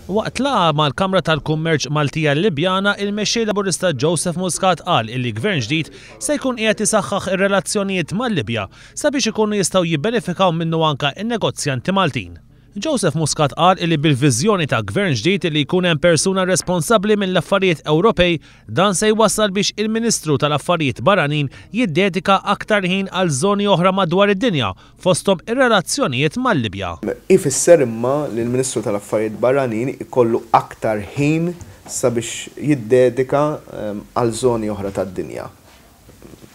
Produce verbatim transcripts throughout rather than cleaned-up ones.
Waqt laqgħa mal-Kamra tal-Kummerċ Maltija Libjana, il-Mexxej Laburista Joseph Muscat qal illi gvern ġdid se jkun qiegħed isaħħaħ ir-relazzjonijiet mal-Libja sabiex ikunu jistgħu jibbenefikaw minnu anka in-negozjanti Maltin. Joseph Muscat qal illi bil-viżjoni ta' gvern ġdid li jkun hemm persuna responsabbli mill-affarijiet Ewropej, dan se jwassal biex il-Ministru tal-Affarijiet Barranin jiddedika aktar ħin għal żoni oħra madwar id-dinja, fosthom ir-relazzjonijiet mal-Libja. Ifisser imma li l-Ministru tal-Affarijiet Barranin ikollu aktar ħin sabiex jiddedika għal żoni oħra tad-dinja.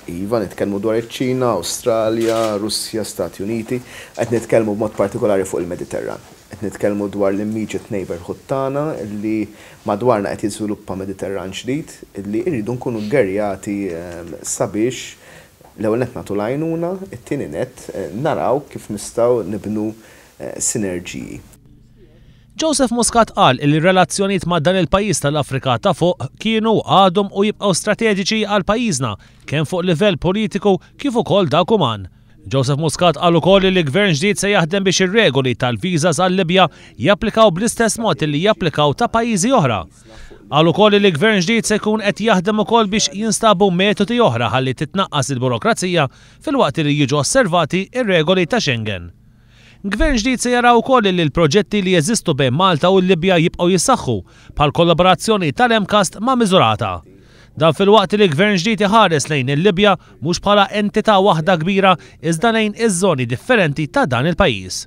Iva, nitkellmu dwar iċ-Ċina, Awstralja, Russja, Stati Uniti, qed nitkellmu b'mod partikolari fuq il-Mediterran. Qed nitkellmu dwar l-immediate neighborhood tagħna li madwarna qed jiżviluppa Mediterran ġdid li rridu nkunu ggerjati sabiex l-ewwel nett nagħtu l-għajnuna, it-tieni nett naraw kif nistgħu nibnu sinerġiji. Joseph Muscat qal li r-relazzjonijiet ma' dan il-pajjiż tal-Afrika ta' fuq kienu, għadhom u jibqgħu strateġiċi għal pajjiżna kemm fuq livell politiku kif ukoll dak uman. Joseph Muscat qal ukoll li l-gvern ġdid se jaħdem biex ir-regoli tal-viżas għal-Libja japplikaw bl-istess mod li japplikaw ta' pajjiżi oħra. Qal ukoll li l-gvern ġdid se jkun qed jaħdem ukoll biex jinstabu metodi oħra ħalli titnaqqas il-burokrazija filwaqt li jiġu osservati ir-regoli ta' Schengen. Gvern ġdid se jara wkoll li l-proġetti li jeżistu bejn Malta u l-Libja jibqgħu jissaħħu bħal kollaborazzjoni tal-MCAST ma' Miżurata. Dan filwaqt li gvern ġdid iħares lejn il-Libja mhux bħala entità waħda kbira, iżda lejn iż-żoni differenti ta' dan il-pajjiż.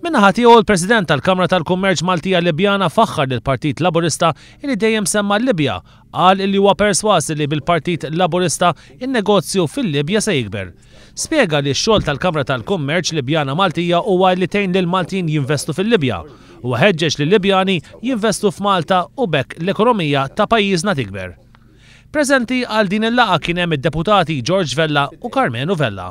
Min-naħa tiegħu, il-President tal-Kamra tal-Kummerċ Maltija Libjana faħħar lill-Partit Laburista li dejjem semma l-Libja. Qal li huwa perswas li bil-Partit Laburista in-negozju fil-Libja se jikber. Spjega li x-xogħol tal-Kamra tal-Kummerċ Libjana Maltija huwa li tgħin lil Maltin jinvestu fil-Libja u ħeġġeġ li Libjani jinvestu f'Malta u b'hekk l-ekonomija ta' pajjiżna tikber. Preżenti għal din il-laqgħa kien hemm id-deputati George Vella u Karmenu Vella.